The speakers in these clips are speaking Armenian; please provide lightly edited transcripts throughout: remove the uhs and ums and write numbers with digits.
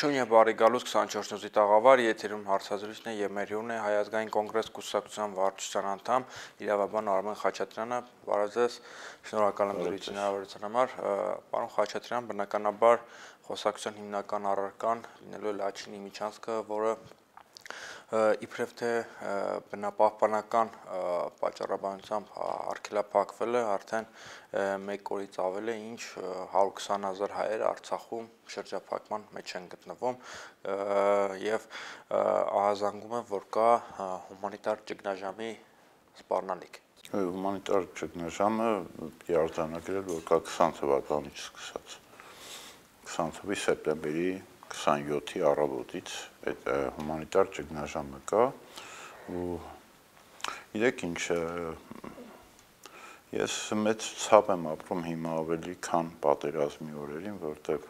Ողջույն եւ բարի գալուս 24 նույնի տաղավար, եթերում հարցազրույցն է եւ մեր հյուրն է Հայազգային կոնգրես կուսակցության վարչության անդամ իրավաբան Արմեն Խաչատրյանը։ Բարև ձեզ, շնորհակալ եմ դրույթի հնարավորության համար։ Պարոն Խաչատրյան, բնականաբար խոսակցության հիմնական առարկան լինելու է Լաչինի միջանցքը, որը իբրև թե բնապահպանական պատճառաբանությամբ արգելափակվել է արդեն 1 օրից ավել է, ինչ 120,000 հայեր Արցախում շրջափակման մեջ են գտնվում եւ ահազանգում է, որ կա հումանիտար ճգնաժամի սպառնալիք։ Հումանիտար ճգնաժամը արձանագրել, որ կա 20 թվականից սկսած 20 թվականի սեպտեմբերի 27-ի առավոտից այդ հումանիտար ճգնաժամը կա ու իրեք ինչ ես մեծ ցավ եմ ապրում հիմա ավելի քան պատերազմի օրերին, որտեղ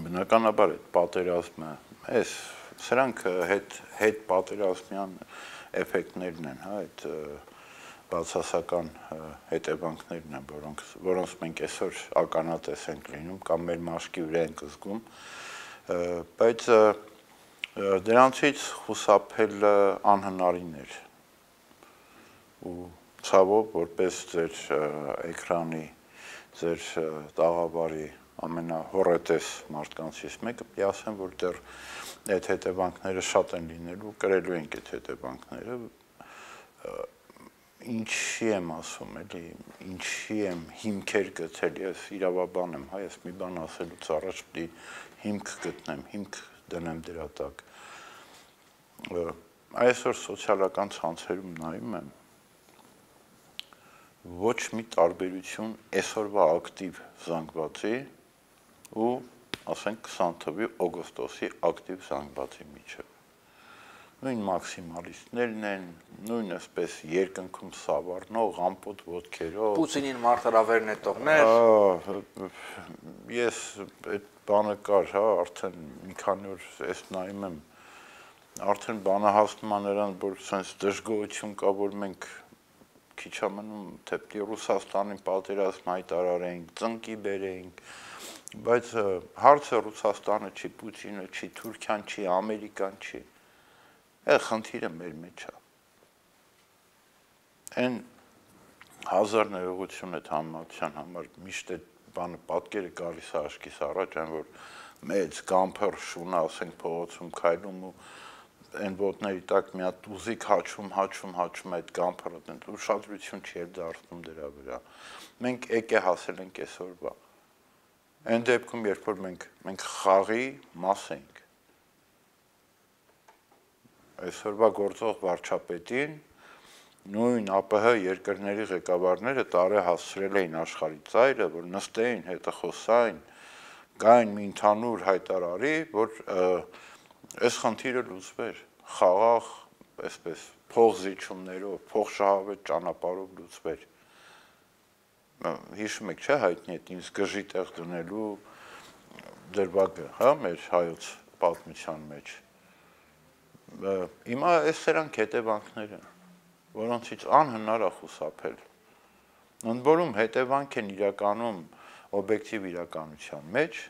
բնականաբար այդ պատերազմը սրանք հետ պատերազմյան էֆեկտներն են, հա, այդ բացասական հետևանքներն են, որոնց մենք այսօր ականատես ենք լինում կամ մեր մաշկի վրա ենք զգում, բայց դրանցից խուսափել անհնարին էր ու ցավով որպես ձեր էկրանի, ձեր տաղավարի ամենահոռետես մարդկանցից մեկը ասեմ, որ դեռ այդ հետևանքները շատ են լինելու, կրելու ենք այդ հետևանքները, ինչի եմ ասում, էլի, ինչի եմ հիմքեր գտել, ես իրավաբան եմ, հա, ես մի բան ասելուց առաջ պիտի հիմք գտնեմ, հիմք դնեմ դրա տակ։ Այսօր սոցիալական ցանցերում նայում եմ, ոչ մի տարբերություն այսօրվա ակտիվ զանգվածի ու, ասենք, 20 թվականի օգոստոսի ակտիվ զանգվածի միջև։ Նույն մաքսիմալիստներն են, նույն այսպես երկնքում սավառնող, ամպոտ ոտքերով։ Պուտինին մարտահրավեր նետողներ։ Ես այդ բանը կար, հա, արդեն մի քանի օր ես նայում եմ, արդեն բանը հասնում է նրան, որ sense դժգոհություն կա, որ մենք քիչ ամենում թեպտի Ռուսաստանին պատերազմ հայտարարենք, ծնկի բերենք, բայց հարցը Ռուսաստանը չի, Պուտինը չի, Թուրքիան չի, Ամերիկան չի։ Խնդիրը մեր մեջ է։ Այն հազար ներողություն այդ համացան համար միշտ այդ բանը պատկերը գալիս է աչքիս առաջ, այն որ մեծ գամփեր շունը, ասենք, փողոցում քայլում ու այն ոտների տակ մի հատ ուզիկ հաչում այդ գամփերը, դեռ ուշադրություն չի դարձնում դրա վրա։ Մենք եկե հասել ենք այսօրվա։ Այն դեպքում, երբ որ մենք խաղի մաս ենք, այսօրվա գործող վարչապետին նույն ԱՊՀ երկրների ղեկավարները տարի հասցրել էին աշխարհի ծայրը, որ նստեին, հետը խոսային, գային մի ընդհանուր հայտարարի, որ այս խնդիրը լուծվեր, խաղաղ, այսպես փողզիջումներով, փողշահավետ ճանապարհով լուծվեր։ Հիշում եք, չէ՞, հայտնի է ինձ գժի տեղ դնելու դրվագը, հա, մեր հայոց պատմության մեջ։ Հիմա այս սրանք հետևանքներ են, որոնցից անհնար է խուսափել։ Ընդ որում հետևանք են իրականում օբյեկտիվ իրականության մեջ,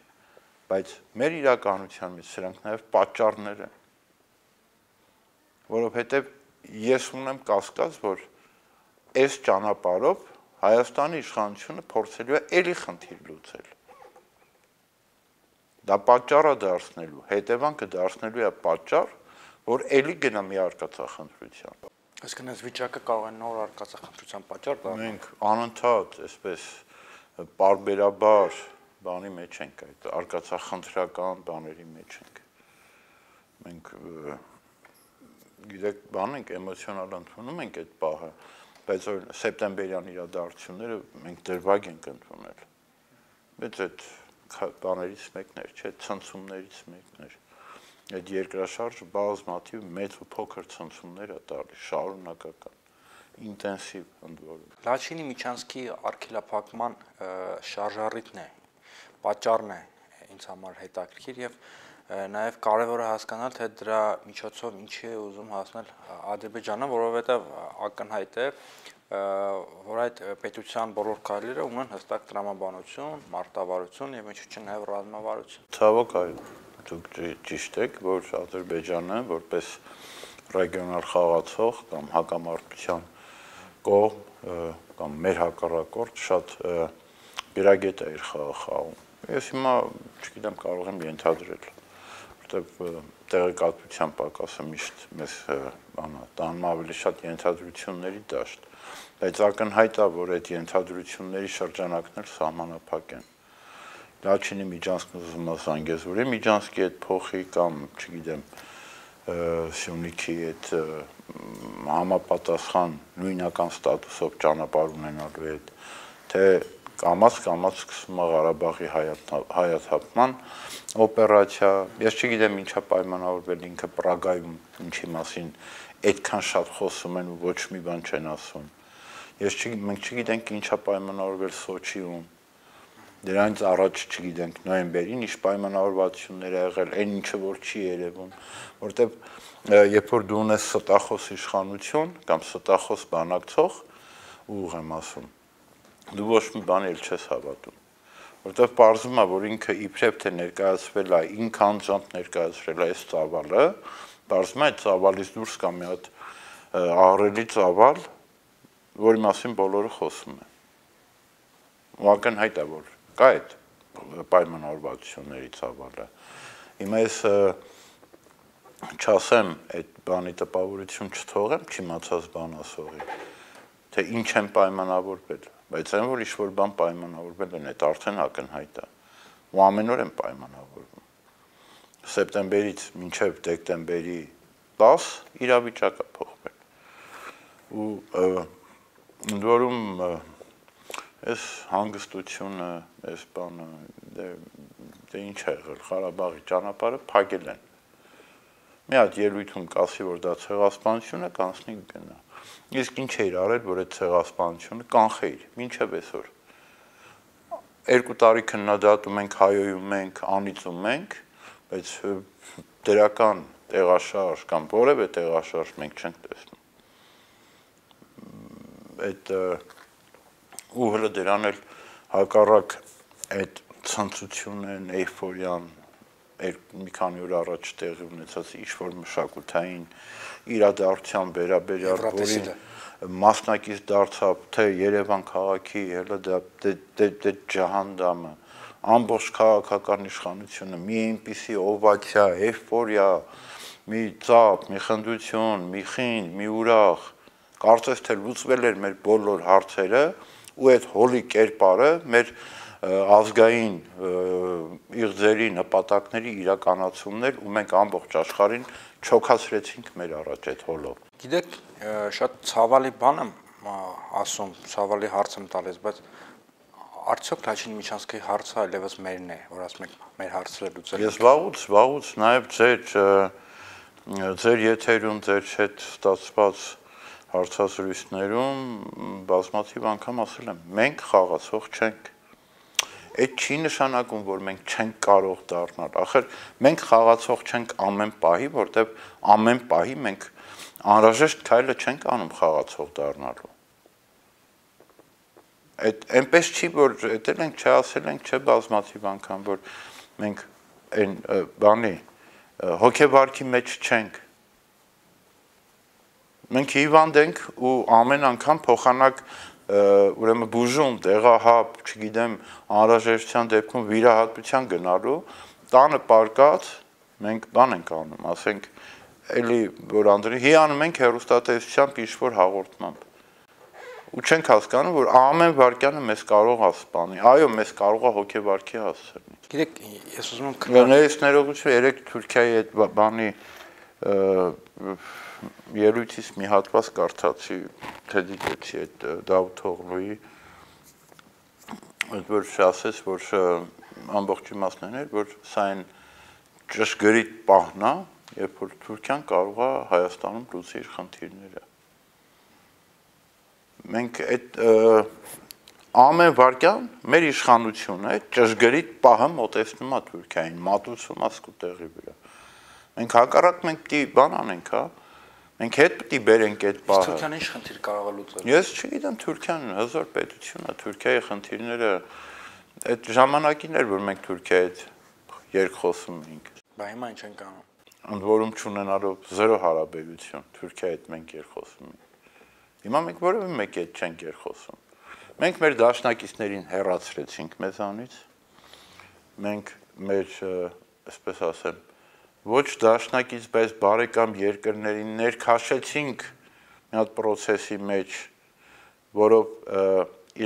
բայց մեր իրականության մեջ սրանք նաև պատճառներ են, որովհետև ես ունեմ կասկած, որ այս ճանապարհով Հայաստանի իշխանությունը փորձելու է էլի խնդիր լուծել։ Դա պատճառ է դարձնելու, հետևանքը դարձնելու է պատճառ, որ էլի գնա մի արկածախնդրության։ Այսինքն այս վիճակը կարող է նոր արկածախնդրության պատճառ դառնալ։ Մենք անընդհատ այսպես պարբերաբար բանի մեջ ենք, այդ արկածախնդրական բաների մեջ ենք։ Մենք գիտեք, բան ենք, էմոցիոնալ ընդունում ենք այդ պահը, բայց սեպտեմբերյան իրադարձությունները մենք դրվագ ենք ընդունել։ Բայց այդ բաներից մեկն էր, չէ, ցնցումներից մեկն էր։ Այդ երկրաշարժը բազմաթիվ մեծ ու փոքր ցնցումներ է տալիս, շարունակական, ինտենսիվ ընդ որում։ Լաչինի միջանցքի արգելափակման շարժառիթն է, պատճառն է ինձ համար հետաքրքիր եւ նաև կարևոր է հասկանալ, թե դրա միջոցով ինչի է ուզում հասնել Ադրբեջանը, որովհետև ակնհայտ է, որ այդ պետության բոլոր քայլերը ունեն հստակ տրամաբանություն, մարտավարություն եւ ինչու՞ չէ նաեւ ռազմավարություն։ Ցավոք այո, դուք ճիշտ եք, որ Ադրբեջանը որպես ռեգիոնալ խաղացող կամ հակամարտության կողմ կամ մեր հակառակորդ շատ գրագետ է իր խաղը խաղում։ Ես հիմա չգիտեմ, կարող եմ ենթադրել, որտեղ տեղեկատվության պակասը միշտ մեզ տանում ավելի շատ ենթադրությունների դաշտ, բայց ակնհայտ է, որ այդ ենթադրությունների շրջանակներ սահմանափակ են։ Լաչինի Միջանցքն ուզում է Զանգեզուրի Միջանցքի հետ փոխի կամ, չգիտեմ, Սյունիքի հետ համապատասխան նույնական ստատուսով ճանապարհ ունենալու հետ, թե կամաց սկսում է Ղարաբաղի հայաթափման օպերացիա, ես չգիտեմ ինչա պայմանավորվել ինքը Պրագայում ինչի մասին այդքան շատ խոսում են ու ոչ մի բան չեն ասում։ Մենք չգիտենք ինչա պայմանավորվել Սոչիում, դրանից առաջ չգիտենք նոյեմբերին ինչ պայմանավորվածություններ ա եղել, այն ինչը որ չի երևում, որտեվ երբ որ դու ունես ստախոս իշխանություն կամ ստախոս բանակցող, ուղղ եմ ասում, դու ոչ մի բան էլ չես հավատում, որտեվ պարզվում է, որ ինքը իբրև թե ներկայացվել է, ինքը անձամբ ներկայացրել է այս ծավալը, պարզվում է այդ ծավալից դուրս կա մի հատ ահռելի ծավալ, որի մասին բոլորը խոսում են։ Ու ակնհայտ է, որ կա այդ պայմանավորվածությունների ծավալը։ Հիմա ես չասեմ այդ բանի տպավորություն չթողեմ չիմացած բան ասողի, թե ինչ են պայմանավորվել, բայց այն որ ինչ-որ բան պայմանավորվել են, այդ արդեն ակնհայտ է, ու ամեն օր են պայմանավորվում։ Սեպտեմբերից մինչև դեկտեմբերի 10 իրավիճակը փոխվել։ Ու ընդ որում այս հանգստությունը, այս բանը, դե ինչ է եղել, Ղարաբաղի ճանապարհը փակել են։ Մի հատ ելույթում կասի, որ դա ցեղասպանություն է, կանցնի գնա։ Իսկ ինչ էր արել, որ այդ ցեղասպանությունը կանխեիր, մինչև այսօր։ 2 տարի քննադատում ենք, հայոյում ենք, անիծում ենք, բայց դրական տեղաշարժ կամ որևէ տեղաշարժ մենք չենք տեսնում։ Այդ ու հələ դրան էլ հակառակ այդ ցնծությունն, էյֆորիան մի քանի օր առաջ տեղի ունեցած ինչ-որ մշակութային իրադարձության վերաբերյալ, որին մասնակից դարձավ թե Երևան քաղաքի, հələ դա ջահանդամը, ամբողջ քաղաքական իշխանությունը, մի այնպիսի օվացիա, էյֆորիա, մի ծափ, մի խնդություն, մի խինդ, մի ուրախ, կարծես թե լուծվել էր մեր բոլոր հարցերը, ու այդ հոլի կերպարը մեր ազգային իղձերի նպատակների իրականացումներ ու մենք ամբողջ աշխարհին չոքացրեցինք մեր առաջ այդ հոլով։ Գիտեք, շատ ցավալի բան եմ ասում, ցավալի հարց եմ տալիս, բայց արդյոք Լաչին Միջանցքի հարցը այլևս մերն է, որ ասում եք մեր հարցերը լուծել։ Ես վաղուց նաև ձեր եթերում, ձեր հետ ստացված հարցազրույցներում բազմաթիվ անգամ ասել եմ, մենք խաղացող չենք։ Այդ չի նշանակում, որ մենք չենք կարող դառնալ։ Ախր մենք խաղացող չենք ամեն պահի, որտեղ ամեն պահի մենք անհրաժեշտ քայլը չենք անում խաղացող դառնալու։ Այդ այնպես չի, որ դել ենք չասել ենք, չէ բազմաթիվ անգամ, որ մենք այն բանի հոգեվարքի մեջ չենք։ Մենք հիվանդ ենք ու ամեն անգամ փոխանակ ուրեմն բուժում, դեղահապ, չգիտեմ, անհրաժեշտության դեպքում վիրահատության գնալու, տանը պարկած մենք բան ենք անում, ասենք, էլի որ անդրի հիանում ենք հեռուստատեսությամբ ինչ-որ հաղորդմամբ։ Ու չենք հասկանում, որ ամեն վարքյանը մեզ կարող է սպանի։ Այո, մեզ կարող է հոգեվարքի հասցնել։ Գիտեք, ես ուզում եմ ներողություն, երեք Թուրքիայի այդ բանի ելույթից մի հատված կարդացի, թե դիտեցի այդ Դավութօղլուի, որ ասեց, որ ամբողջ իմաստն էր, որ սա այն ճշգրիտ պահն է, երբ որ Թուրքիան կարող է Հայաստանում լուծի իր խնդիրները։ Մենք այդ ամեն վարքյան մեր իշխանությունը այդ ճշգրիտ պահը մոտեցնում է Թուրքիային, մատուցում է սկուտերի վրա։ Մենք հակառակ մենք պիտի բան անենք, հա, Մենք հետ պետք է բերենք այդ բանը։ Թուրքիան ինչ խնդիր կարող է լուծել։ Ես չգիտեմ Թուրքիան հզոր պետություն է, Թուրքիայի խնդիրները այդ ժամանակին էր, որ մենք Թուրքիայի հետ երկխոսում էինք։ Բա հիմա ինչ ենք անում։ Ընդ որում չունենալով զերո հարաբերություն Թուրքիայի հետ մենք երկխոսում ենք։ Հիմա մենք որևէ մեկի հետ չենք երկխոսում։ Մենք մեր դաշնակիցներին հեռացրեցինք մեզանից։ Մենք մեր, այսպես ասեմ, ոչ դաշնակից, բայց բարեկամ երկրներին ներքաշեցինք մի հատ process-ի մեջ, որով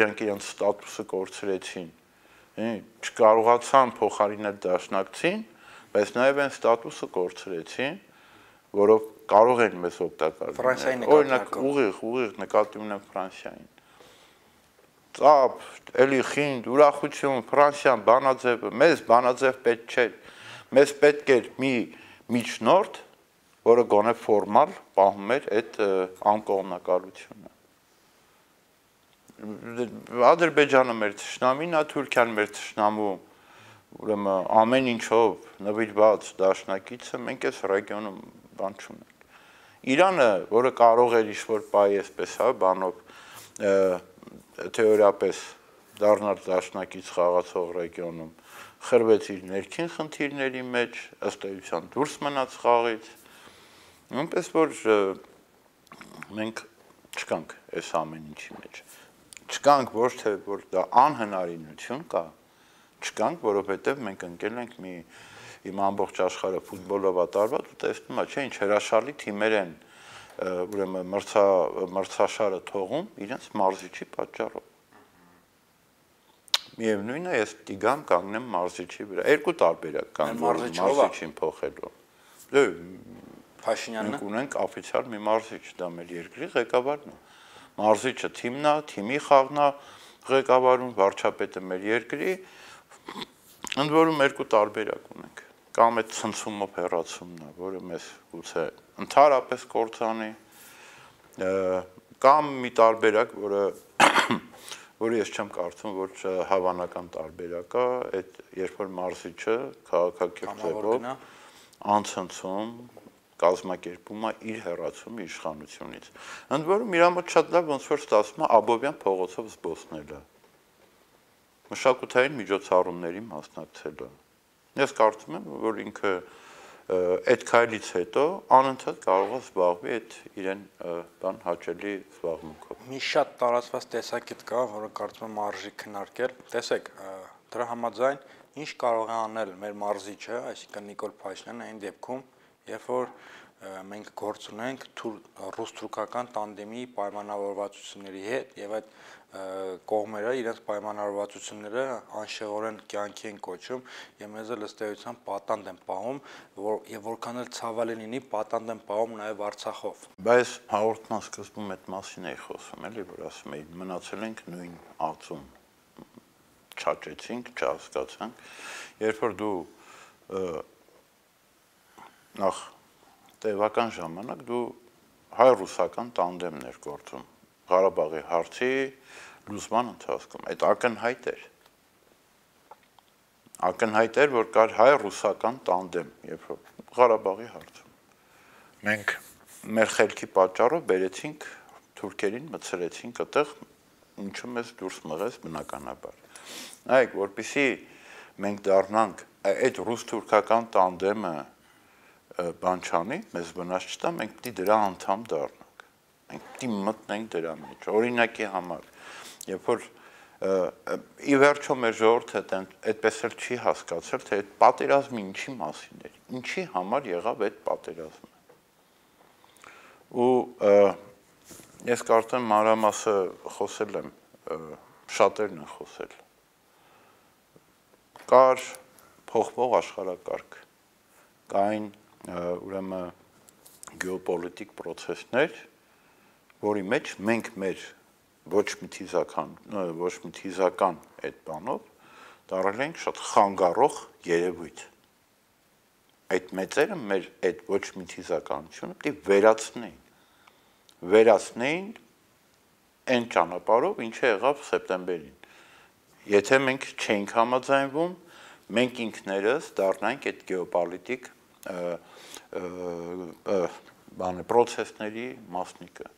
իրանք իրենց ստատուսը կորցրեցին։ Չկարողացան փոխարինել դաշնակցին, բայց նաև այն ստատուսը կորցրեցին, որով կարող են մեզ օգտակար լինել։ Օրինակ ուղիղ նկատի ունեմ Ֆրանսիային։ Ծափ, էլի խինդ, ուրախություն, Ֆրանսիան բանաձևը, մեզ բանաձև պետք չէ։ Մեզ պետք էր մի միջնորդ, որը գոնե ֆորմալ պահում էր այդ անկողմնակալությունը։ Ադրբեջանը մեր թշնամին է, Թուրքիան մեր թշնամու, ուրեմն ամեն ինչով նվիրված դաշնակիցը, մենք այս ռեգիոնում բան չունենք։ Իրանը, որը կարող էր ինչ-որ բայ այսպես, հա, բանով թեորիապես դառնալ դաշնակից խաղացող ռեգիոնում, խրվեց իր ներքին խնդիրների մեջ, ըստ էության դուրս մնաց խաղից, նույնպես որ մենք չկանք այս ամեն ինչի մեջ, չկանք ոչ թե որ դա անհնարինություն կա, չկանք, որովհետև մենք ընկել ենք մի իմ ամբողջ աշխարհը ֆուտբոլով է տարված ու տեսնում եմ, չէ, ինչ հրաշալի թիմեր են ուրեմն մրցաշարը թողում իրենց մարզիչի պատճառով։ Միևնույնն է, ես պիտի գամ կանգնեմ մարզիչի վրա։ Երկու տարբերակ կան մարզիչին փոխելու։ Դե Փաշինյանն մենք ունենք օֆիցիալ մի մարզիչ, դա մեր երկրի ղեկավարն է։ Մարզիչը թիմն է, թիմի խաղն է ղեկավարում, վարչապետը մեր երկրի, ընդ որում երկու տարբերակ ունենք։ Կամ այդ ցնցումով հեռացումն է, որը մեզ գուցե ընդհանրապես կործանի, կամ մի տարբերակ, որը ես չեմ կարծում, որ հավանական տարբերակ է, այդ երբ որ մարզիչը քաղաքակիրթ անցնցում կազմակերպում է իր հեռացումը իշխանությունից։ Ընդ որում իր մոտ շատ լավ ոնց որ ստացվում է Աբովյան փողոցով զբոսնելը, մշակութային միջոցառումների մասնակցելը։ Ես կարծում եմ, որ ինքը այդ քայլից հետո անընդհատ կարող է զբաղվի այդ իրեն բան հաճելի զբաղմունքով։ Մի շատ տարածված տեսակետ կա, որը կարծում եմ արժի քննարկել։ Տեսեք, դրա համաձայն ինչ կարող է անել մեր մարզիչը, այսինքն Նիկոլ Փաշինյանը այն դեպքում, երբ որ մենք գործ ունենք ռուս-թուրքական տանդեմի պայմանավորվածությունների հետ եւ այդ կողմերը իրենց պայմանավորվածությունները անշեղորեն կյանքի են կոչում եւ մեզ էլ ըստ էության պատանդ են պահում եւ որքան էլ ցավալի լինի պատանդ են պահում նաեւ Արցախով։ Բայց հաղորդման սկզբում այդ մասին էի խոսում, էլի, որ ասում էի մնացել ենք նույն ածում, չաճեցինք, չհասկացանք, երբ որ դու նախ տևական ժամանակ դու հայ-ռուսական տանդեմն էր գործում Ղարաբաղի հարցի լուծման ընթացքում, այդ ակնհայտ էր, որ կար հայ-ռուսական տանդեմ, երբ որ Ղարաբաղի հարցում։ Մենք մեր խելքի պատճառով բերեցինք թուրքերին, մցրեցինք այդտեղ, ինչը մեզ դուրս մղեց բնականաբար։ Նայեք, որպեսզի մենք դառնանք այդ ռուս-թուրքական տանդեմը բան չանի, մեզ վնաս չտա, մենք պիտի դրա անդամ դառնանք, մենք պիտի մտնենք դրա մեջ, օրինակի համար, երբ որ ի վերջո մեր ժողովուրդը այդպես էլ չի հասկացել, թե այդ պատերազմը ինչի մասին էր, ինչի համար եղավ այդ պատերազմը։ Ու ես կարծեմ մանրամասը խոսել եմ, շատերն են խոսել, կար փոխվող աշխարհակարգ, կային ուրեմն գեոպոլիտիկ process-ներ, որի մեջ մենք մեր ոչ մի թիզական այդ բանով դառել ենք շատ խանգարող երևույթ։ Այդ մեծերը մեր այդ ոչ մի թիզականությունը պետք վերացնեին այն ճանապարհով, ինչը եղավ սեպտեմբերին։ Եթե մենք չենք համաձայնվում, մենք ինքներս դառնանք այդ գեոպոլիտիկ բանը process-ների մասնիկը։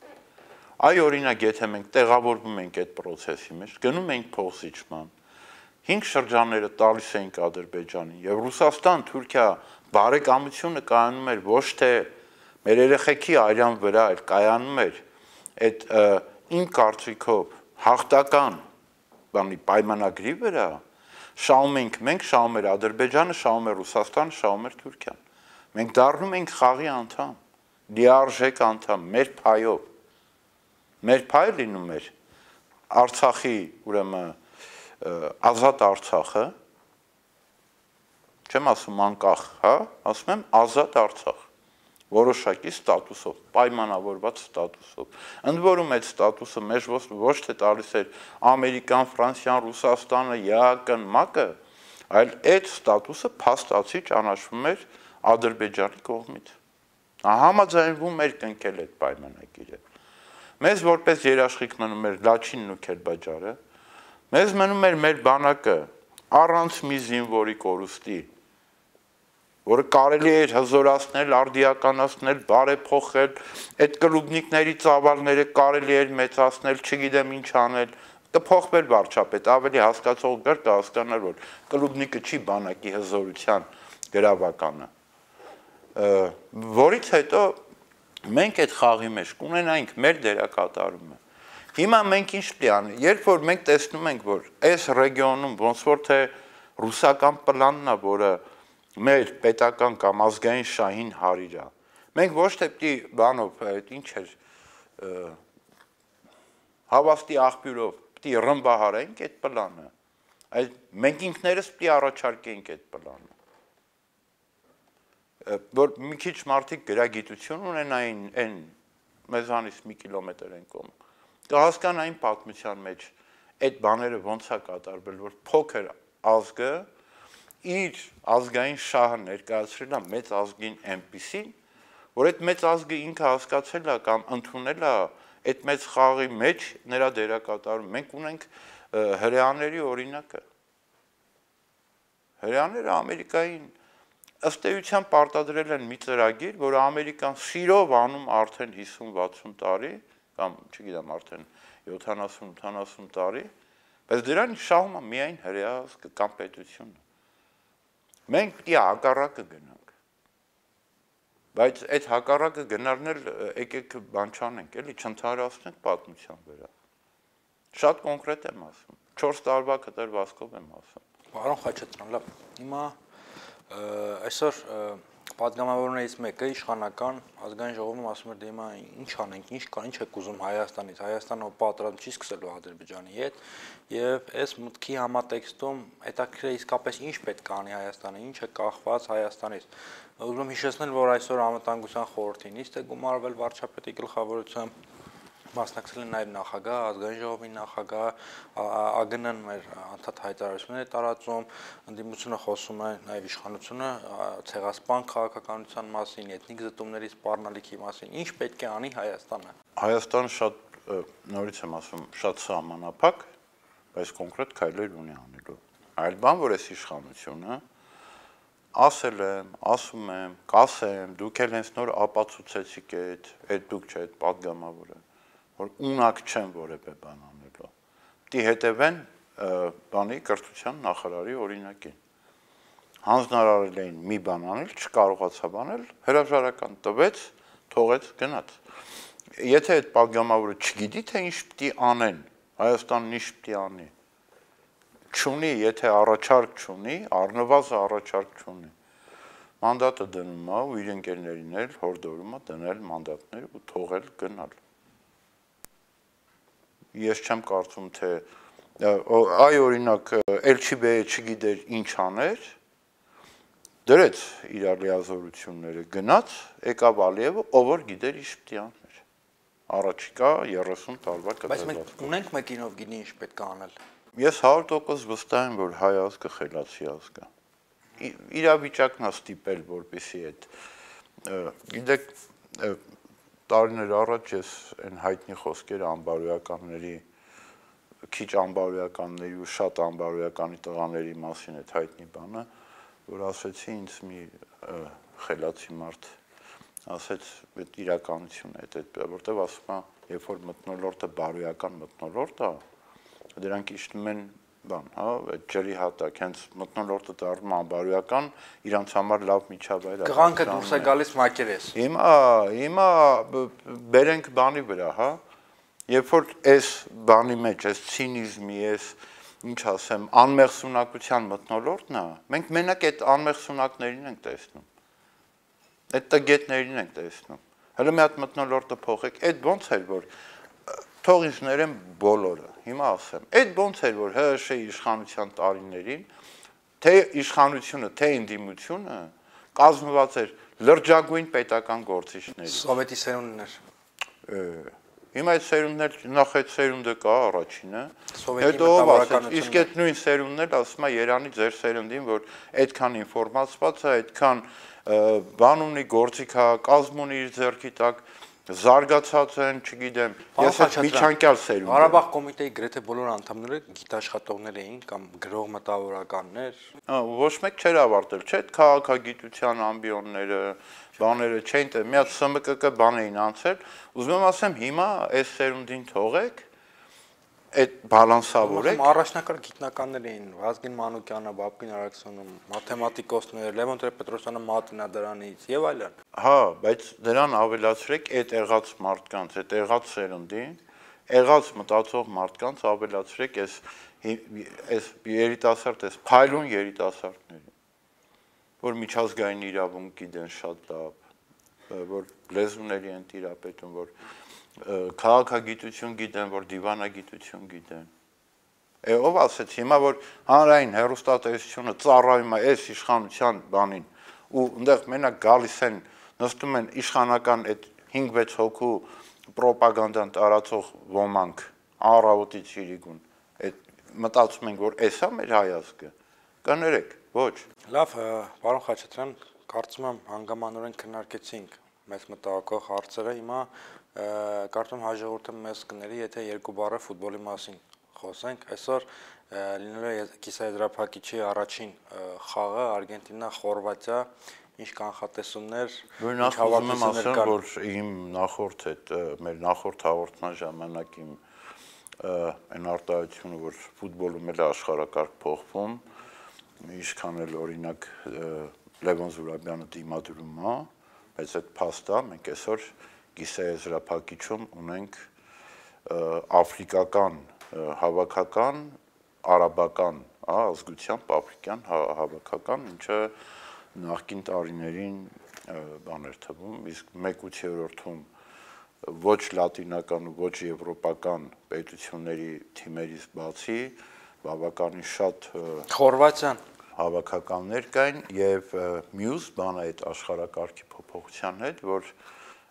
Այ օրինակ, եթե մենք տեղավորվում ենք այդ process-ի մեջ, գնում ենք փոխզիջման, 5 շրջանները տալիս ենք Ադրբեջանին, եւ Ռուսաստան, Թուրքիա բարեկամությունը կայանում էր ոչ թե մեր երեխեքի արյան վրա, այլ կայանում էր այդ իմ կարծիքով հաղթական բանի պայմանագրի վրա, շահում ենք մենք, շահում էր Ադրբեջանը, շահում էր Ռուսաստանը, շահում էր Թուրքիան։ Մենք դառնում ենք խաղի անդամ, լիարժեք անդամ, մեր փայով։ Մեր փայը լինում էր Արցախի, ուրեմն ազատ Արցախը, չեմ ասում անկախ, հա, ասում եմ ազատ Արցախ, որոշակի ստատուսով, պայմանավորված ստատուսով։ Ընդ որում այդ ստատուսը մեզ ոչ թե տալիս էր Ամերիկան, Ֆրանսիան, Ռուսաստանը, ԵԱՀԿ-ն, ՄԱԿ-ը, այլ այդ ստատուսը փաստացի ճանաչվում էր Ադրբեջանի կողմից։ Համաձայնվում էր կնքել այդ պայմանագիրը։ Մեզ որպես երաշխիք մնում էր Լաչինն ու Քերբաջարը, մեզ մնում էր մեր բանակը առանց մի զինվորի կորուստի, որը կարելի էր հզորացնել, արդիականացնել, բարեփոխել, այդ կլուբնիկների ծավալները կարելի էր մեծացնել, չգիտեմ ինչ անել, կփոխվեր վարչապետ, ավելի հասկացող կհասկանար, որ կլուբնիկը չի բանակի հզորության գրավականը, որից հետո մենք այդ խաղի մեջ կունենայինք մեր դերակատարումը։ Հիմա մենք ինչ պետք է անենք, երբ որ մենք տեսնում ենք, որ այս ռեգիոնում ոնց որ թե ռուսական պլանն է, որը մեր պետական կամ ազգային շահին հարիր է, մենք ոչ թե պետք է բանով, ինչ էր, հավաստի աղբյուրով պետք է ռմբահարենք այդ պլանը, այլ մենք ինքներս պետք է առաջարկենք այդ պլանը, որ մի քիչ մարդիկ գրագիտություն ունենային այն մեզանից մի կիլոմետր են կողմ, կհասկանային պատմության մեջ այդ բաները ոնց է կատարվել, որ փոքր ազգը իր ազգային շահը ներկայացրել է մեծ ազգին այնպիսին, որ այդ մեծ ազգը ինքը հասկացել է կամ ընդունել է այդ մեծ խաղի մեջ նրա դերակատարում։ Մենք ունենք հրեաների օրինակը։ Հրեաները Ամերիկային ըստ էության պարտադրել են մի ծրագիր, որը Ամերիկան սիրով անում արդեն 50-60 տարի, կամ չգիտեմ արդեն 70-80 տարի, բայց դրան շահում է միայն հրեա ազգը կամ պետությունը։ Մենք պետք է հակառակը գնանք, բայց այդ հակառակը գնալն էլ եկեք բան չանենք, էլի չընդհանրացնենք պատմության վրա։ Շատ կոնկրետ եմ ասում, 4 տարվա կտրվածքով եմ ասում։ Պարոն Խաչատրյան, լավ, հիմա այսօր պատգամավորներից մեկը իշխանական ազգային ժողովում ասում էր դե հիմա ինչ անենք, ինչ եք ուզում Հայաստանից, Հայաստանը պատրաստ չի սկսելու Ադրբեջանի հետ եւ այս մտքի համատեքստում հետաքրքիր է իսկապես ինչ պետք է անի Հայաստանը, ինչ է կախված Հայաստանից։ Ուզում եմ հիշեցնել, որ այսօր Անվտանգության խորհրդի նիստ է գումարվել վարչապետի գլխավորությամբ, մասնակցել են նաև նախագահ, ազգային ժողովի նախագահ, ԱԳՆ-ն մեր անդադ հայտարարություններ է տարածում, ընդդիմությունը խոսում է նաև իշխանությունը ցեղասպան քաղաքականության մասին, էթնիկ զտումների սպառնալիքի մասին, ինչ պետք է անի Հայաստանը։ Հայաստանը շատ նորից եմ ասում, շատ սահմանափակ, բայց կոնկրետ քայլեր ունի անելու։ Այլ բան, որ այս իշխանությունը ասել եմ, ասում եմ, կասեմ, դուք էլ հենց նոր ապացուցեցիք այդ դուք չէ, այդ պատգամավորը, որ ունակ չեն որևէ բան անելու։ Դի հետևեն բանի կրթության նախարարի օրինակին։ Հանձնարարել էին մի բան անել, չկարողացավ անել, հրաժարական տվեց, թողեց, գնաց։ Եթե այդ պատգամավորը չգիտի, թե ինչ պետք է անեն, Հայաստանն ինչ պետք է անի, չունի, եթե առաջարկ չունի, առնվազն առաջարկ չունի, մանդատը դնում է ու իր ընկերներին էլ հորդորում է դնել մանդատներ ու թողել գնալ։ Ես չեմ կարծում, թե այ օրինակ Էլչիբեյը չգիտեր ինչ աներ, դրեց իր լիազորությունները, գնաց, եկավ Ալիևը, ով որ գիտեր ինչ պետք է աներ։ Առաջիկա 30 տարվա կտրվածքով։ Բայց մենք ունենք մեկին, ով գիտի ինչ պետք է անել։ Ես 100% վստահ եմ, որ հայ ազգը խելացի ազգ է։ Իրավիճակն է ստիպել, որպեսզի այդ գիտեք տարիներ առաջ ես այն հայտնի խոսքերը անբարոյականների քիչ անբարոյականների ու շատ անբարոյականի տղաների մասին այդ հայտնի բանը, որ ասեցի ինձ մի խելացի մարդ ասեց այդ իրականությունն է, որտեվ ասում է, երբ որ մթնոլորտը բարոյական մթնոլորտ է, դրանք իջնում են բան, հա, այդ ջրի հատակ, հենց մթնոլորտը դառնում անբարոյական, իրանց համար լավ միջավայր է։ Կղանքը դուրս է գալիս մակերես։ Հիմա բերենք բանի վրա, հա։ Երբ որ այս բանի մեջ, այս ցինիզմի, այս ինչ ասեմ, անմեղսունակության մթնոլորտն է, մենք մենակ այդ անմեղսունակներին ենք տեսնում։ Այդ տգետներին ենք տեսնում։ Հələ մի հատ մթնոլորտը փոխեք, այդ ոնց էր որ թող ինձ ներեն բոլորը։ Հիմա ասեմ, այդ ոնց էր որ ՀՀՇ իշխանության տարիներին թե իշխանությունը, թե ընդդիմությունը կազմված էր լրջագույն պետական գործիչներից։ Սովետի սերունդներ։ Հիմա այդ սերունդներ, նախ այդ սերունդը կա առաջինը, հետո իսկ այդ նույն սերունդն էլ ասում է Երանի ձեր սերունդին, որ այդքան ինֆորմացված է, այդքան բան ունի, գործիք է, կազմ ունի իր ձեռքի տակ, զարգացած են, չգիտեմ, ես այդ միջանկյալ սերունդ եմ։ Ղարաբաղ կոմիտեի գրեթե բոլոր անդամները գիտաշխատողներ էին կամ գրող մտավորականներ։ Ոչ մեկ չէր ավարտել, չէ՞, քաղաքագիտության ամբիոնները, բաները չէին, մի հատ ՍՄԿԿ բան էին անցել, ուզում եմ ասեմ, հիմա այս սերունդին թողեք, այդ բալանսավորեք։ Առաջնակարգ գիտնականներ էին, Վազգեն Մանուկյանը, Բաբկին Արաքսյանը, մաթեմատիկոսներ, Լևոն Տեր-Պետրոսյանը մատնադրանից եւ այլն։ Հա, բայց դրան ավելացրեք այդ եղած մարդկանց, այդ եղած սերունդին, եղած մտածող մարդկանց ավելացրեք այս երիտասարդ, այս փայլուն երիտասարդներին, որ միջազգային իրավունք գիտեն շատ լավ, որ լեզուների են տիրապետում, որ քաղաքագիտություն գիտեն, որ դիվանագիտություն գիտեն։ Ով ասեց հիմա որ հանրային հեռուստատեսությունը ծառայում է այս իշխանության բանին ու այնտեղ մենակ գալիս են նստում են իշխանական այդ 5-6 հոգու պրոպագանդան տարածող ոմանք առավոտից իրիկուն այդ մտածում ենք որ էսա մեր հայազգը կներեք ոչ լավ պարոն Խաչատրյան կարծում եմ հանգամանորեն քննարկեցինք մեծ մտահոգող հարցերը հիմա կարծում հաջողորդը մեզ կների եթե երկու բառը ֆուտբոլի մասին խոսենք այսօր լինելու կիսաեզրափակիչի առաջին խաղը Արգենտինա-Խորվատիա ինչ կանխատեսումներ ինչ հավակնություններ կան որ իմ նախորդ այդ մեր նախորդ հաղորդման ժամանակ իմ այն արտահայտությունը որ ֆուտբոլում էլ աշխարհակարգ փոխվում ինչքան էլ օրինակ Լևոն Զուրաբյանը դիմադրում է բայց այդ փաստը մենք այսօր կիսաեզրափակիչում ունենք աֆրիկական հավաքական արաբական ազգությամբ աֆրիկյան հավաքական ինչը նախկին տարիներին բան էր թվում իսկ 1/8-ում ոչ լատինական ու ոչ եվրոպական պետությունների թիմերից բացի բավականին շատ Խորվատիան հավաքականներ կային եւ մյուս բանը այդ աշխարհակարգի փոփոխության հետ որ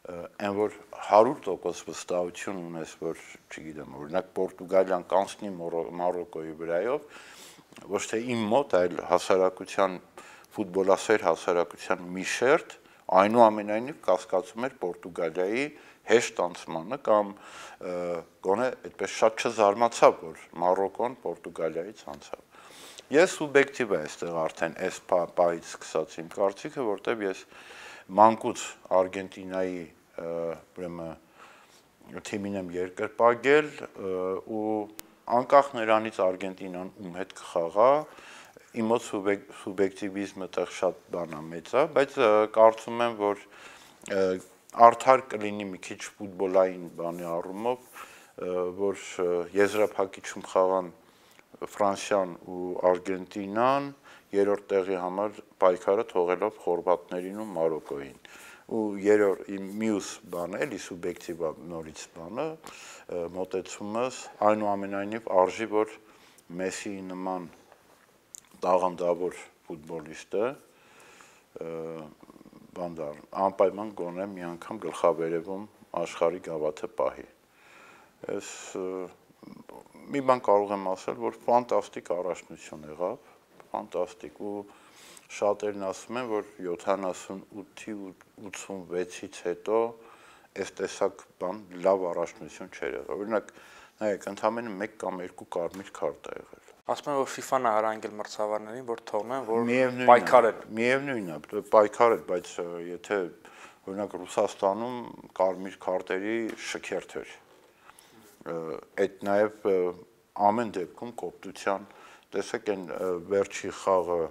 այն որ 100% վստահություն ունես որ չգիտեմ օրինակ Պորտուգալիան կանցնի Մարոկոյի վրայով ոչ թե իմ մոտ այլ հասարակության ֆուտբոլասեր հասարակության մի շերտ այնուամենայնիվ կասկածում էր Պորտուգալիայի հեշտ անցմանը կամ գոնե այդպես շատ չզարմացավ որ Մարոկոն Պորտուգալիայից անցավ ես սուբյեկտիվ եմ այստեղ արդեն այս պահից սկսած իմ կարծիքը որտեվ ես մանկուց Արգենտինայի ուրեմն թիմին եմ երկրպագել ու անկախ նրանից Արգենտինան ում հետ կխաղա իմ մոտ սուբյեկտիվիզմը տեղ շատ բան է մեծ է բայց կարծում եմ որ արդար կլինի մի քիչ ֆուտբոլային բանի առումով որ եզրափակիչում խաղան Ֆրանսիան ու Արգենտինան երրորդ տեղի համար պայքարը թողելով խորվատներին ու Մարոկոյին ու երրորդ մյուս բանը էլի սուբյեկտիվ նորից բանը մոտեցումս այնուամենայնիվ արժի որ Մեսսիի նման տաղանդավոր ֆուտբոլիստը բանդար անպայման գոնե մի անգամ գլխավերևում աշխարհի գավաթը պահի այս մի բան կարող եմ ասել որ ֆանտաստիկ առաջնություն եղավ ֆանտաստիկ ու շատերն ասում են որ 78-ի 86-ից հետո այս տեսակ բան լավ առաջնություն չէր եղել օրինակ նայեք ընդամենը 1 կամ 2 կարմիր քարտ է եղել ասում են որ FIFA-ն է հրանգել մրցավարներին որ թողնեն որ պայքարեն միևնույնն է պայքարել բայց եթե օրինակ Ռուսաստանում կարմիր քարտերի շքերթ էր։ Այդ նաև ամեն դեպքում կոպտության, տեսեք այն վերջի խաղը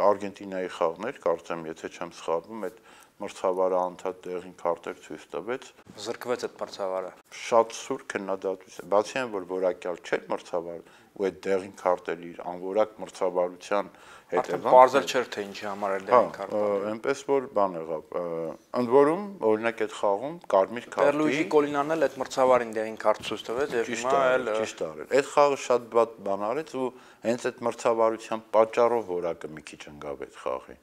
Արգենտինայի խաղն էր, կարծեմ, եթե չեմ սխալվում, այդ մրցավարը անդադ դեղին քարտեր ցույց տվեց։ Զրկվեց այդ մրցավարը։ Շատ սուր քննադատություն։ Բացի այն, որ որակյալ չէր մրցավարը, ու այդ դեղին քարտերի անորակ մրցավարության հետևանքն պարզել չէր թե ինչի համար էր դեղին քարտը։ Այնպես որ բան եղավ։ Ընդ որում, օրինակ այդ խաղում կարմիր քարտի Պերլուիջի Կոլինանն էլ այդ մրցավարին դեղին քարտ ցույց տվեց եւ հիմա էլ ճիշտ արել։ Այդ խաղը շատ բան արեց ու հենց այդ մրցավարության պատճառով որակը մի քիչ ընկավ այդ խաղի։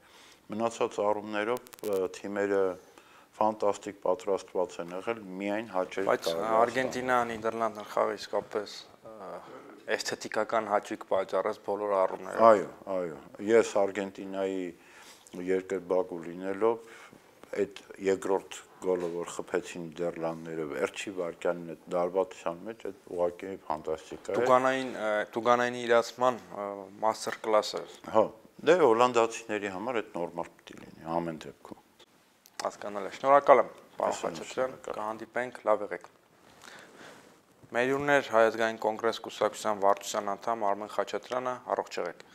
Մնացած առումներով թիմերը ֆանտաստիկ պատրաստված են եղել, միայն հաճելի բայց Արգենտինա-Նիդերլանդն խաղը իսկապես էսթետիկական հաճույք պատճառեց բոլոր առումներով։ Այո, ես Արգենտինայի երկրպագու լինելով այդ երկրորդ գոլը, որ խփեցին Նիդերլանդները վերջի վայրկյանին այդ դարբացության մեջ, այդ ուղղակի ֆանտաստիկ է։ Տուգանային իրացման մաստեր կլաս էր։ Հա, դե հոլանդացիների համար այդ նորմալ պիտի լինի ամեն դեպքում։ Հասկանալի է։ Շնորհակալ եմ, պարոն Խաչատրյան, կհանդիպենք, լավ եղեք։ Մեր հյուրն էր Հայ ազգային կոնգրես կուսակցության վարչության անդամ Արմեն Խաչատրյանը, առողջ եղեք։